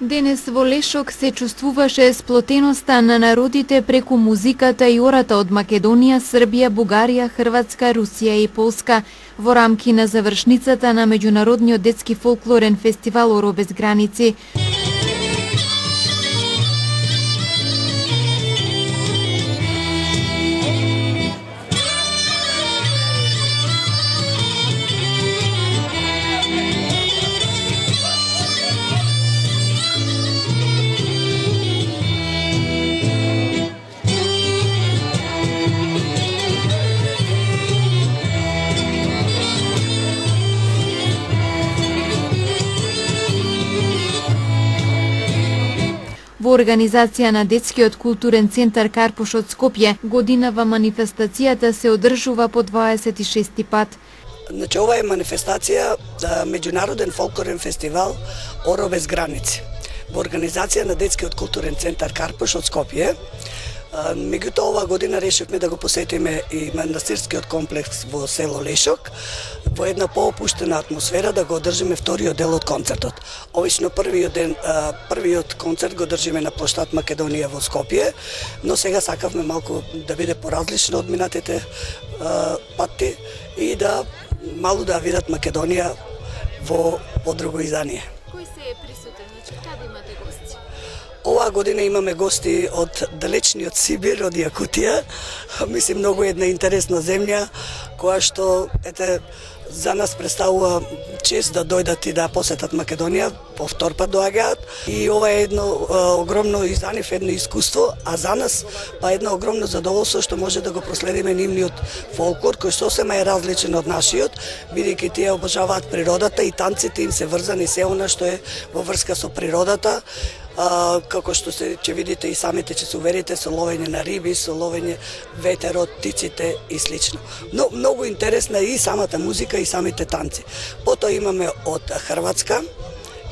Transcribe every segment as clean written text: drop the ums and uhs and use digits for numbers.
Денес во Лешок се чувствуваше сплотеноста на народите преку музиката и ората од Македонија, Србија, Бугарија, Хрватска, Русија и Полска во рамки на завршницата на меѓународниот детски фолклорен фестивал Оро без граници. Во организација на Детскиот културен центар Карпуш од Скопје, годинава манифестацијата се одржува по 26 пат. Значи, ова е манифестација меѓународен фолклорен фестивал Оро без граници во организација на Детскиот културен центар Карпуш од Скопје. Меѓутоа, ова година решивме да го посетиме и манастирскиот комплекс во село Лешок во една поопуштена атмосфера, да го одржиме вториот дел од концертот. Обично првиот концерт го држиме на плоштад Македонија во Скопје, но сега сакавме малку да биде поразлично од минатите пати и да малку да видат Македонија во друго издание. Кој се е присутен? Значи, каде имате гости? Оваа година имаме гости од далечниот Сибир, од Јакутија. Мислим, многу една интересна земја, која што за нас представува чест да дојдат и да посетат Македонија, по втор пат доаѓаат. И ова е едно огромно и за нив едно искуство, а за нас па едно огромно задоволство што може да го проследиме нивниот фолклор, кој сосема е различен од нашиот, бидејќи тие обожаваат природата и танците им се врзани се она што е во врска со природата. Како што ќе видите и самите, ќе се уверите, со ловење на риби, со ловење ветерот, птиците и слично. Но многу интересна е и самата музика и самите танци. Потоа имаме од Хрватска,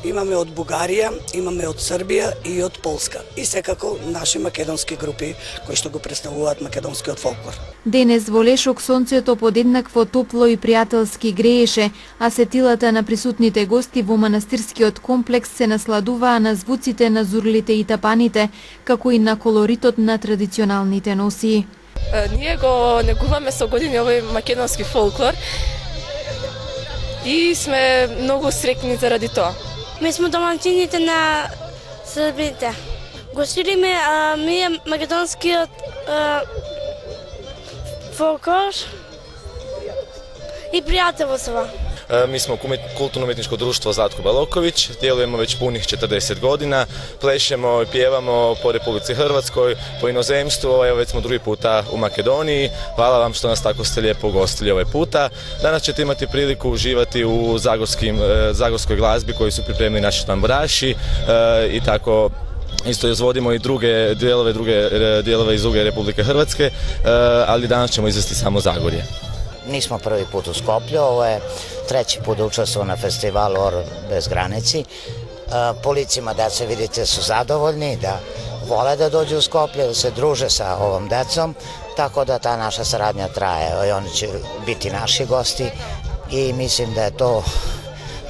имаме од Бугарија, имаме од Србија и од Полска. И секако наши македонски групи кои што го представуваат македонскиот фолклор. Денес во Лешок сонцето подеднакво топло и пријателски грееше, а сетилата на присутните гости во манастирскиот комплекс се насладуваа на звуците на зурлите и тапаните, како и на колоритот на традиционалните носии. Ние го негуваме со години овој македонски фолклор и сме многу среќни заради тоа. Ми сме домаќините на Србите. Го шириме македонскиот фолклор и пријателство. Mi smo kulturno-umjetničko društvo Zlatko Baloković, djelujemo već punih 40 godina, plešemo i pjevamo po Republici Hrvatskoj, po inozemstvu, evo već smo drugi puta u Makedoniji. Hvala vam što nas tako ste lijepo ugostili ovaj puta. Danas ćete imati priliku uživati u zagorskoj glazbi koju su pripremili naši tamburaši i tako isto izvodimo i druge dijelove iz druge Republike Hrvatske, ali danas ćemo izvesti samo Zagorje. Nismo prvi put u Skoplju, ovo je treći put da učestvujemo na festivalu Oru bez granici. Po licima deca, vidite, su zadovoljni, da vole da dođu u Skoplje, da se druže sa ovom decom, tako da ta naša saradnja traje i oni će biti naši gosti i mislim da je to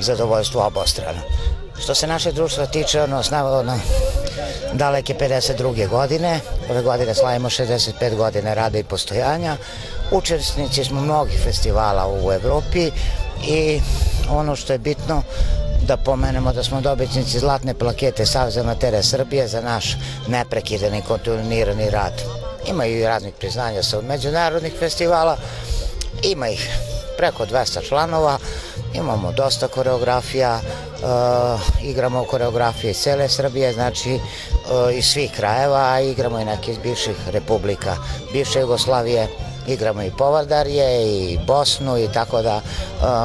zadovoljstvo obostrano. Što se naše društva tiče, ono daleke 52. godine, ove godine slavimo 65 godine rada i postojanja. Učesnici smo mnogih festivala u Evropi i ono što je bitno da pomenemo da smo dobitnici zlatne plakete Saveza amatera Srbije za naš neprekidan i kontinuirani rad. Ima i raznih priznanja sa međunarodnih festivala, ima ih preko 200 članova, imamo dosta koreografija, igramo koreografije iz cele Srbije, znači iz svih krajeva, a igramo i neke iz bivših republika, bivše Jugoslavije, igramo i Povardarje i Bosnu i tako da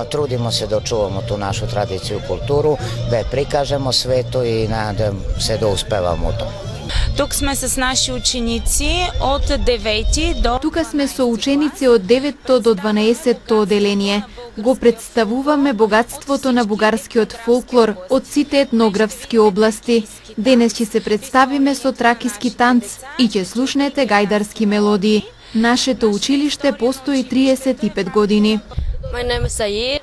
trudimo se da očuvamo tu našu tradiciju i kulturu, da je prikažemo svetu i nadam se da uspevamo u tom. Тук сме с наши ученици од 9 до... Тука сме со ученици од 9 до 12 оделение. Го представуваме богатството на бугарскиот фолклор од сите етнографски области. Денес ќе се представиме со тракиски танц и ќе слушнете гајдарски мелодии. Нашето училиште постои 35 години. My name is Sayed.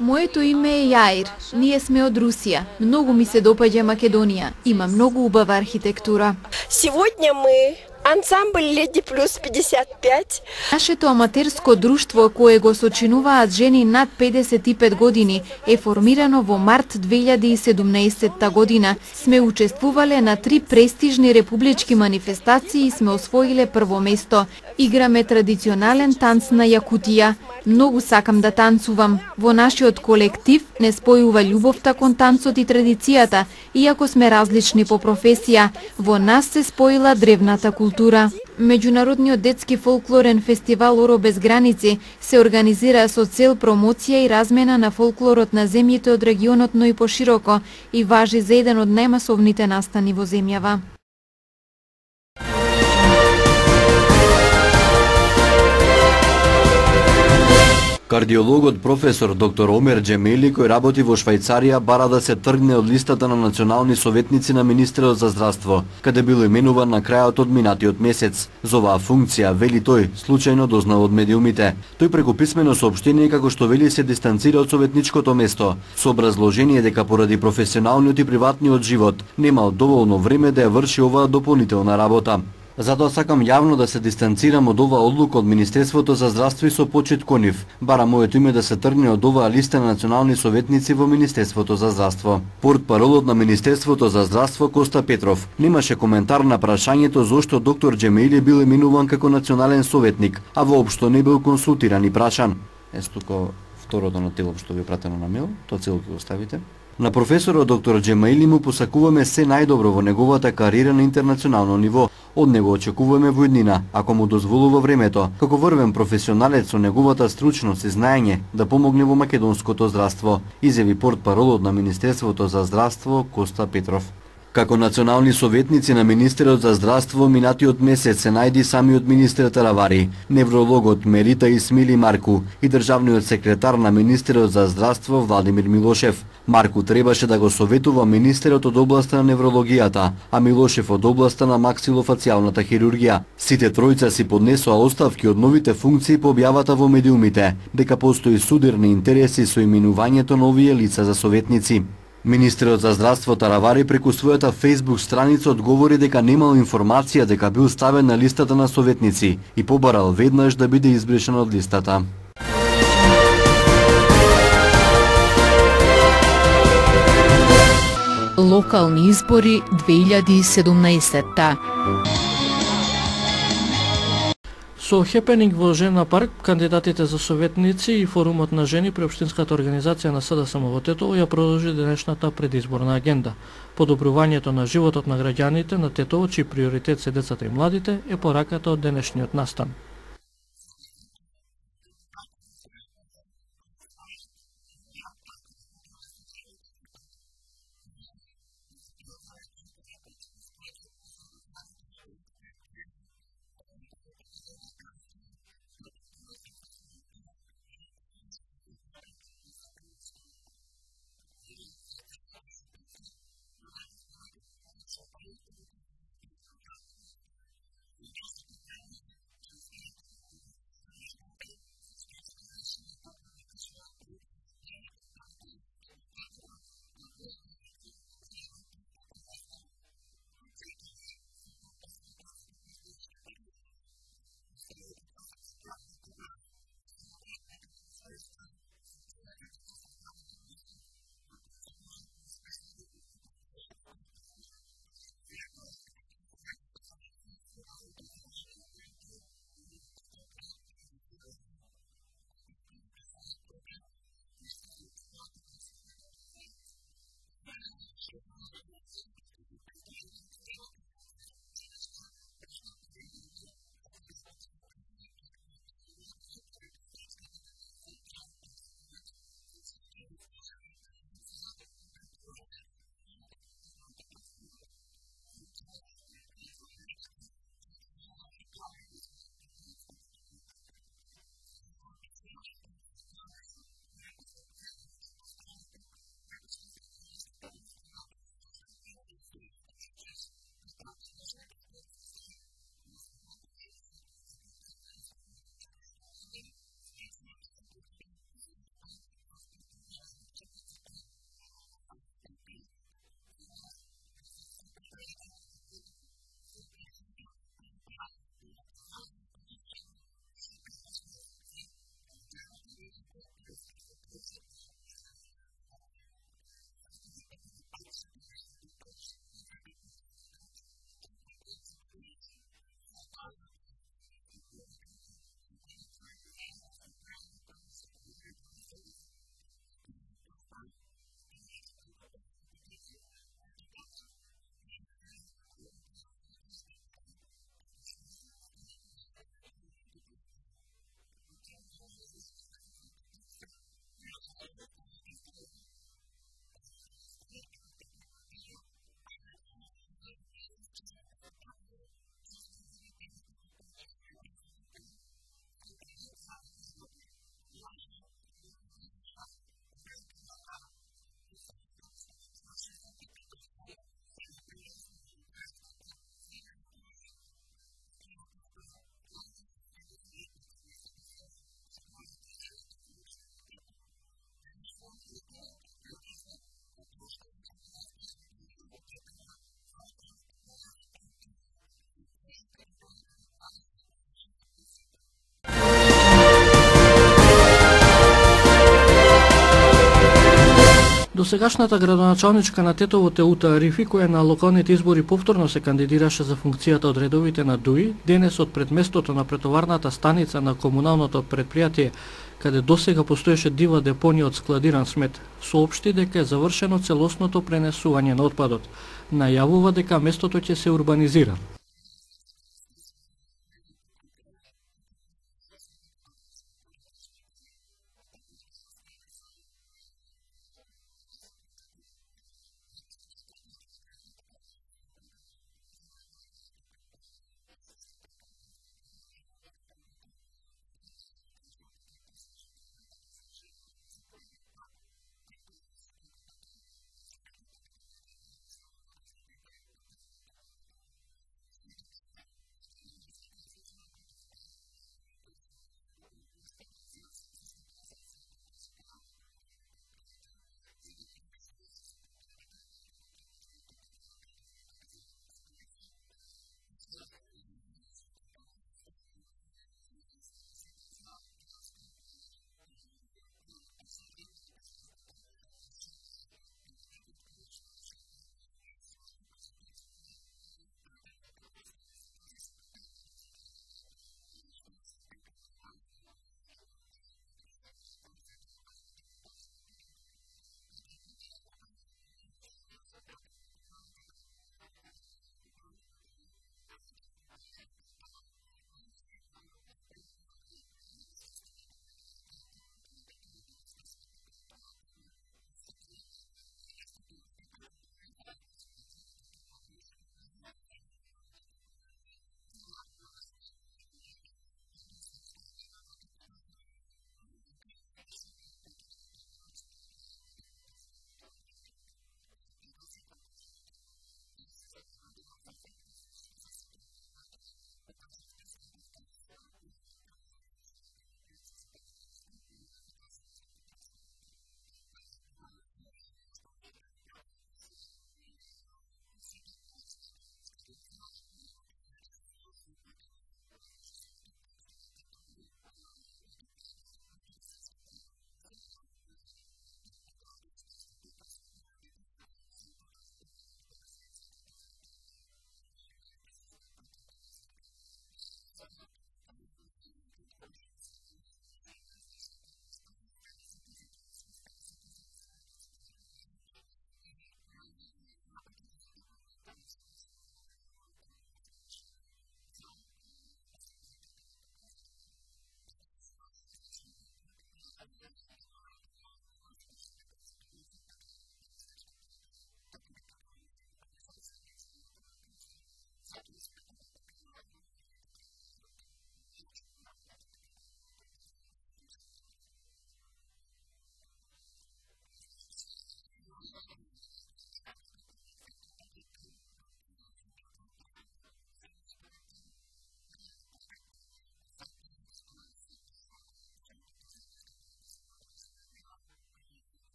Моето име е Јаир. Ние сме од Русија. Многу ми се допаѓа Македонија. Има многу убава архитектура. Сегодня мы ансамбль Леди плюс 55. Нашето аматерско друштво, кое го сочинуваат жени над 55 години, е формирано во март 2017 година. Сме учествувале на 3 престижни републички манифестации и сме освоиле прво место. Играме традиционален танц на Јакутија. Многу сакам да танцувам. Во нашиот колектив не спојува љубовта кон танцот и традицијата, иако сме различни по професија. Во нас се споила древната култура. Меѓународниот детски фолклорен фестивал Оро без граници се организира со цел промоција и размена на фолклорот на земјите од регионот, но и пошироко, и важи за еден од најмасовните настани во земјава. Кардиологот професор доктор Омер Џемели, кој работи во Швајцарија, бара да се тргне од листата на национални советници на министерот за здравство, каде бил именуван на крајот од минатиот месец. За оваа функција, вели тој, случајно дознал од медиумите. Тој преку писмено соопштение, како што вели, се дистанцира од советничкото место, со образложение дека поради професионалниот и приватниот живот немал доволно време да ја врши оваа дополнителна работа. Затоа сакам јавно да се дистанцирам од оваа одлука од Министерството за здравство и со почит кон нив. Бара моето име да се тргне од оваа листа на национални советници во Министерството за здравство. Портпаролот на Министерството за здравство Коста Петров немаше коментар на прашањето зошто доктор Џемели бил именуван како национален советник, а воопшто не бил консултиран и прашан. Тука второто на тело што ви е пратено на мейл, тоа целото го ставите. На професорот доктор Џемели му посакуваме се најдобро во неговата кариера на интернационално ниво. Од него очекуваме војнина, ако му дозволува времето, како врвен професионалец со неговата стручност и знаење да помогне во македонското здравство, изјави портпаролот на Министерството за здравство Коста Петров. Како национални советници на Министерот за здравство минатиот месец се најди самиот министер Таравари, неврологот Мерита Исмили Марку и државниот секретар на Министерот за здравство Владимир Милошев. Марку требаше да го советува министерот од областа на неврологијата, а Милошев од областа на максилофацијалната хирургија. Сите тројца си поднесоа оставки од новите функции по објавата во медиумите, дека постои судирни интереси со именувањето на овие лица за советници. Министерот за здравство Таравари преку својата Facebook страница одговори дека немал информација дека бил ставен на листата на советници и побарал веднаш да биде избришан од листата. Локални избори 2017. Со хепенинг во Жена парк, кандидатите за советници и форумот на жени при Општинската организација на СДСМ во Тетово ја продолжи денешната предизборна агенда. Подобрувањето на животот на граѓаните на Тетово, чиј приоритет се децата и младите, е пораката од денешниот настан. Досегашната градоначалничка на Тетово Теута Арифи, која на локалните избори повторно се кандидираше за функцијата од редовите на ДУИ, денес од предместото на претоварната станица на комуналното предпријатие, каде досега постоеше дива депонија од складиран смет, соопшти дека е завршено целосното пренесување на отпадот. Најавува дека местото ќе се урбанизира.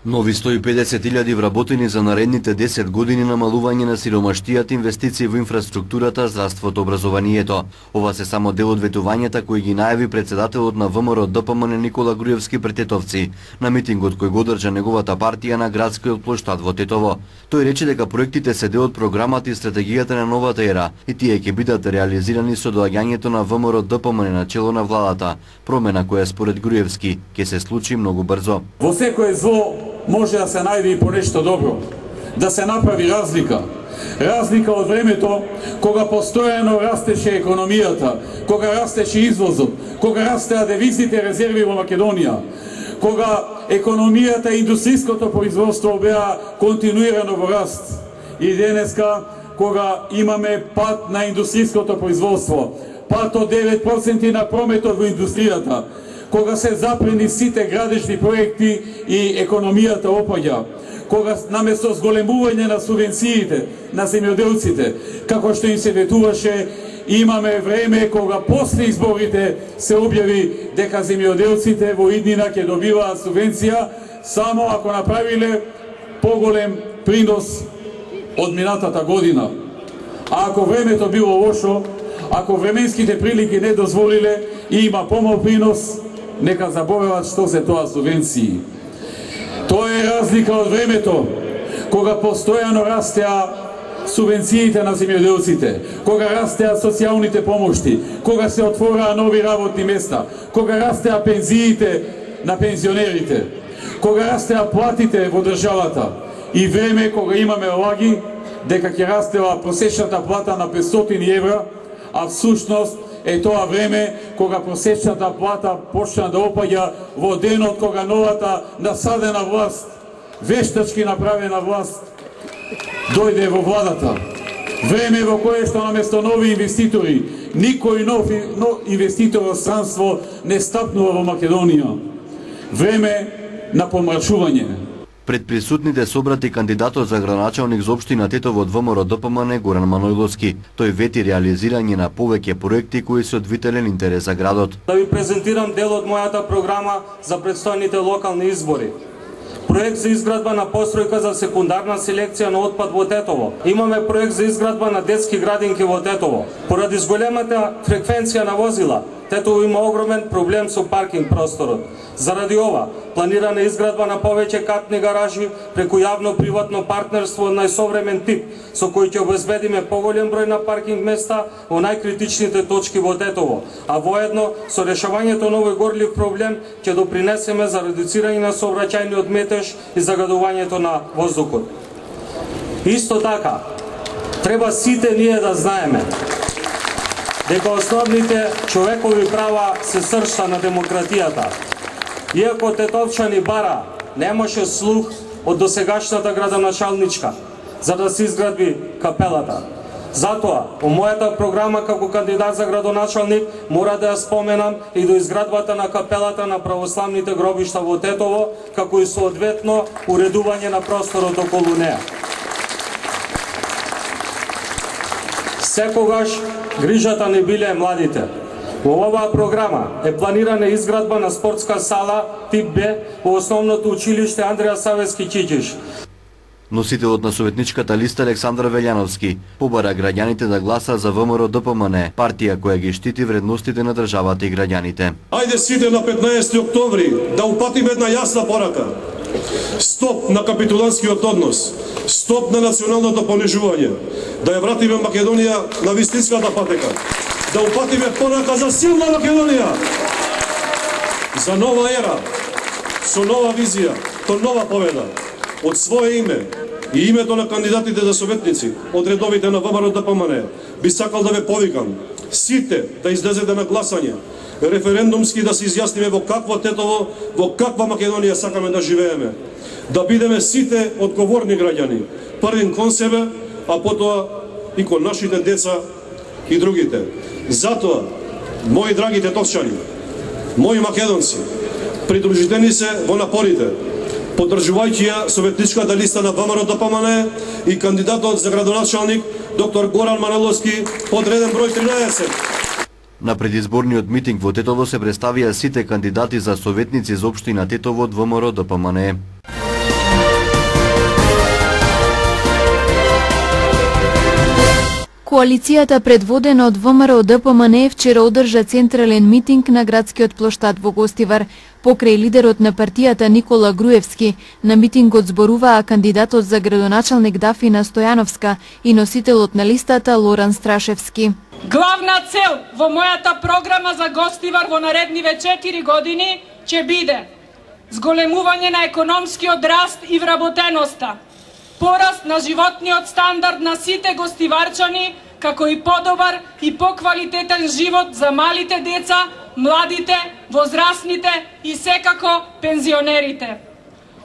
Нови 150.000 вработени за наредните 10 години намалување на сиромаштијата, инвестиции во инфраструктурата, здравството, образованието. Ова се само дел од ветувањата кои ги најави председателот на ВМРО ДПМН Никола Груевски пред Тетовци на митингот кој го одржа неговата партија на градскиот плоштад во Тетово. Тој рече дека проектите се дел од програмата и стратегијата на новата ера и тие ќе бидат реализирани со доаѓањето на ВМРО ДПМН на чело на владата, промена која според Груевски ќе се случи многу брзо. Во секое зло може да се најде и по нешто добро, да се направи разлика. Разлика од времето кога постојано растеше економијата, кога растеше извозот, кога растеа девизните резерви во Македонија, кога економијата и индустријското производство беа континуирано во раст. И денеска, кога имаме пат на индустријското производство, пат од 9% на прометот во индустријата, кога се запрени сите градежни проекти и економијата опаѓа, кога наместо зголемување на субвенциите на земјоделците, како што им се ветуваше, имаме време кога после изборите се објави дека земјоделците во иднина ќе добиваат субвенција само ако направиле поголем принос од минатата година. А ако времето било лошо, ако временските прилики не дозволиле и има помал принос, нека заборават што се тоа субвенции. Тоа е разлика од времето кога постојано растеа субвенциите на земјоделците, кога растеа социјалните помошти, кога се отвораа нови работни места, кога растеа пензиите на пензионерите, кога растеа платите во државата и време кога имаме лаги дека ќе растела просечната плата на 500 евра, а всушност е тоа време кога просечната плата почна да опаѓа во денот кога новата насадена власт, вештачки направена власт, дојде во владата. Време во кое што наместо нови инвеститори, никој нов инвеститор од странство не стапнува во Македонија. Време на помрачување. Пред присутните собрати кандидатот за градоначалник за општина Тетово од ВМРО ДПМН Горан Манојловски. Тој вети реализирање на повеќе проекти кои се од витален интерес за градот. Да ви презентирам дел од мојата програма за предстојните локални избори. Проект за изградба на постројка за секундарна селекција на отпад во Тетово. Имаме проект за изградба на детски градинки во Тетово. Поради зголемата фреквенција на возила, Тетово има огромен проблем со паркинг просторот. Заради ова, планирана изградба на повеќе катни гаражи преку јавно-приватно партнерство од најсовремен тип, со кој ќе обезбедиме поголем број на паркинг места во најкритичните точки во Тетово, а воедно со решавањето на овој горлив проблем ќе допринесеме за редуцирање на сообраќајниот метеж и загадувањето на воздухот. Исто така, треба сите ние да знаеме дека основните човекови права се сршта на демократијата. Иако тетовчани бара немаше слух од досегашната градоначалничка за да се изгради капелата. Затоа, во мојата програма како кандидат за градоначалник мора да ја споменам и до изградбата на капелата на православните гробишта во Тетово, како и соодветно уредување на просторот околу неа. Секогаш грижата не биле младите. Во оваа програма е планирана изградба на спортска сала тип Б во основното училиште Андреја Савески Чичиш. Носителот на советничката листа Александар Велјановски побара граѓаните да гласа за ВМРО ДПМН, партија која ги штити вредностите на државата и граѓаните. Ајде сите на 15 октомври да упатиме една јасна порака. Стоп на капитуланскиот однос, стоп на националното понижување, да ја вратиме Македонија на вистинската патека, да упатиме порака за силна Македонија, за нова ера, со нова визија, то нова победа. Од свое име и името на кандидатите за советници од редовите на ВМРО ДПМН би сакал да ве повикам сите да излезете на гласање, референдумски да се изјасниме во какво Тетово, во каква Македонија сакаме да живееме. Да бидеме сите одговорни граѓани, првен кон себе, а потоа и кон нашите деца и другите. Затоа, мои драги тетовчани, мои македонци, придружите се во напорите, поддржувајќи ја советничката листа на ВМРО ДПМН и кандидатот за градоначалник доктор Горан Манојловски под реден број 13. На предизборниот митинг во Тетово се представија сите кандидати за советници за општина Тетово од ВМРО ДПМН. Коалицијата предводена од ВМРО ДПМН вчера одржа централен митинг на градскиот плоштад во Гостивар. Покрај лидерот на партијата Никола Груевски, на митингот зборуваа кандидатот за градоначалник Дафина Стојановска и носителот на листата Лоран Страшевски. Главна цел во мојата програма за Гостивар во наредниве 4 години ќе биде зголемување на економскиот раст и вработеноста, пораст на животниот стандард на сите гостиварчани, како и подобар и поквалитетен живот за малите деца, младите, возрастните и секако пензионерите.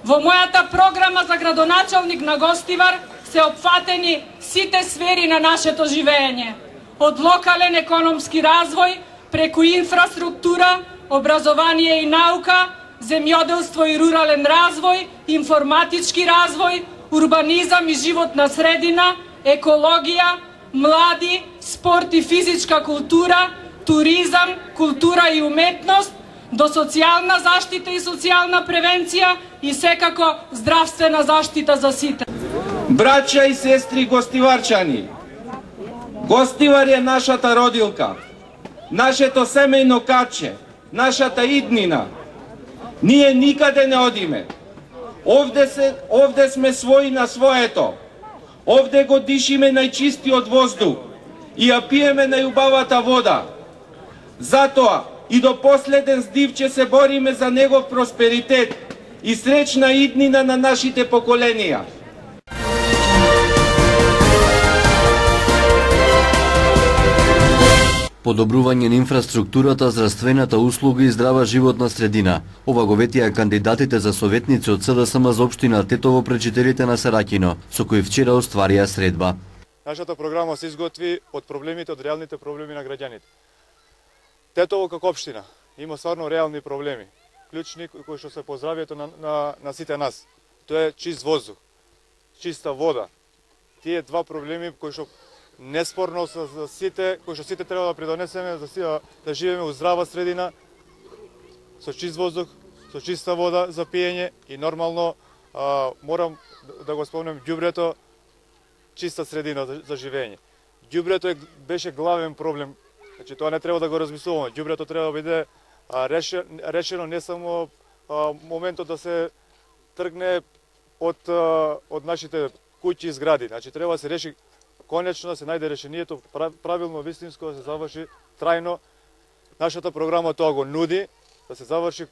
Во мојата програма за градоначалник на Гостивар се опфатени сите сфери на нашето живење, од локален економски развој, преку инфраструктура, образование и наука, земјоделство и рурален развој, информатички развој, урбанизам и животна средина, екологија, млади, спорт и физичка култура, туризам, култура и уметност, до социјална заштита и социјална превенција и секако здравствена заштита за сите. Браќа и сестри гостиварчани, Гостивар е нашата родилка, нашето семејно каче, нашата иднина. Ние никаде не одиме. Овде сме своји на своето. Овде го дишиме најчистиот воздух и ја пиеме најубавата вода. Затоа и до последен здив ќе се бориме за негов просперитет и среќна иднина на нашите поколенија. Подобрување на инфраструктурата, здравствената услуга и здрава животна средина. Ова го ветија кандидатите за советници од СДСМ за општина Тетово пред жителите на Сараќино, со кои вчера остварија средба. Нашата програма се изготви од проблемите, од реалните проблеми на граѓаните. Тетово како општина има стварно реални проблеми, клучни кои што се по здравјето на сите нас. Тоа е чист воздух, чиста вода. Тие два проблеми кои што неспорно за сите, кои што сите треба да придонесеме за да живееме во здрава средина, со чист воздух, со чиста вода за пиење и нормално морам да го спомнем ѓубрето, чиста средина за живење. Ѓубрето беше главен проблем. Значи тоа не треба да го размислуваме. Ѓубрето треба да биде решено не само моментот да се тргне од нашите куќи и згради. Значи треба да се реши конечно, да се најде решението правилно, вистинско, да се заврши трајно. Нашата програма тоа го нуди, да се заврши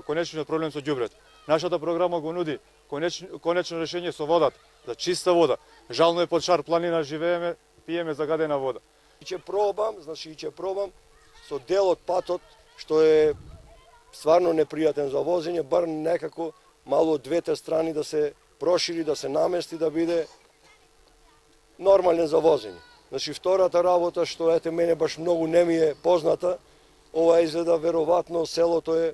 конечниот проблем со ѓубрето. Нашата програма го нуди конечно решение со водата, за чиста вода. Жално е под Шар планина живееме, пиеме загадена вода. И ќе пробам со дел од патот, што е стварно непријатен за возење, бар некако мало од двете страни да се прошири, да се намести, да биде нормален за возење. Значи, втората работа, што ете мене баш многу не ми е позната, ова изгледа веројатно селото е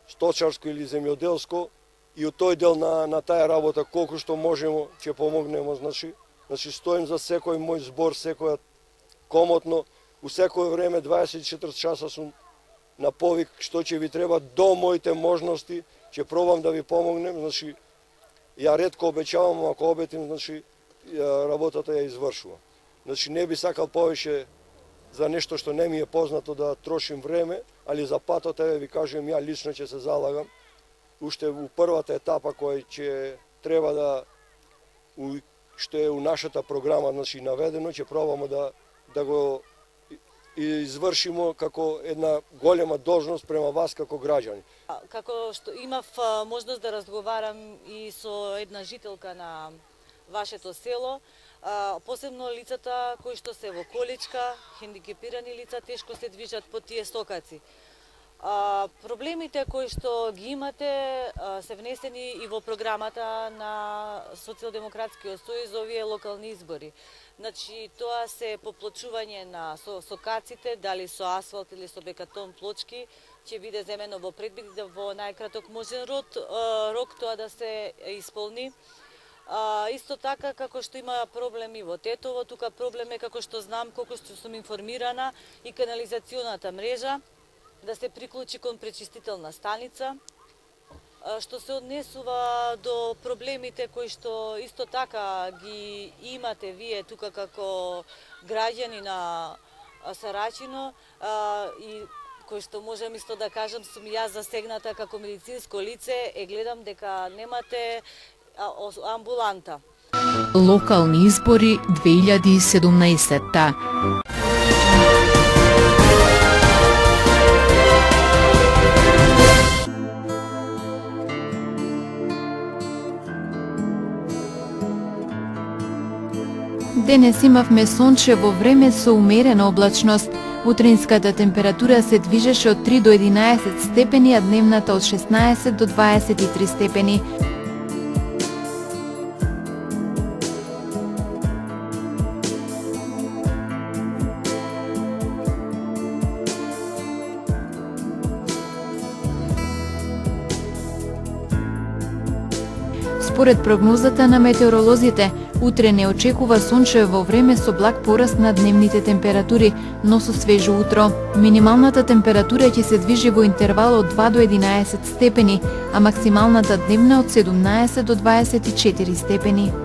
сточарско или земјоделско и од тој дел на таа работа колку што можеме ќе помогнемо, значи стоим за секој мој збор, секоја комотно, у секој време 24 часа сум на повик што ќе ви треба до моите можности, ќе пробам да ви помогнем, значи ја ретко обеќавам, ако обетим, значи работата ја извршува. Значи не би сакал повеќе за нешто што не ми е познато да трошим време, али за патот ви кажувам, ја лично ќе се залагам. Уште у првата етапа која ќе треба да што е у нашата програма, значи наведено, ќе пробаме да го извршимо како една голема должност према вас како граѓани. Како што имав можност да разговарам и со една жителка на вашето село, посебно лицата кои што се во количка, хендикепирани лица, тешко се движат по тие стокаци. Проблемите кои што ги имате се внесени и во програмата на Социјалдемократскиот сојуз овие локални избори. Значи, тоа се поплочување на сокаците, дали со асфалт или со бекатон плочки, ќе биде земено во предвид да во најкраток можен рок тоа да се исполни. Исто така, како што има проблеми во Тетово, тука проблем е, како што знам, колку што сум информирана, и канализационата мрежа, да се приклучи кон пречистителна станица, што се однесува до проблемите кои што исто така ги имате вие тука како граѓани на Сараќино и кои што можам исто да кажам, сум јас засегната како медицинско лице, гледам дека немате амбуланта. Локални избори 2017. Денес имавме сончево време со умерена облачност. Утринската температура се движеше од 3 до 11 степени, а дневната од 16 до 23 степени. Според прогнозата на метеоролозите, утре не очекува сончево време со благ пораст на дневните температури, но со свежо утро. Минималната температура ќе се движи во интервал од 2 до 11 степени, а максималната дневна од 17 до 24 степени.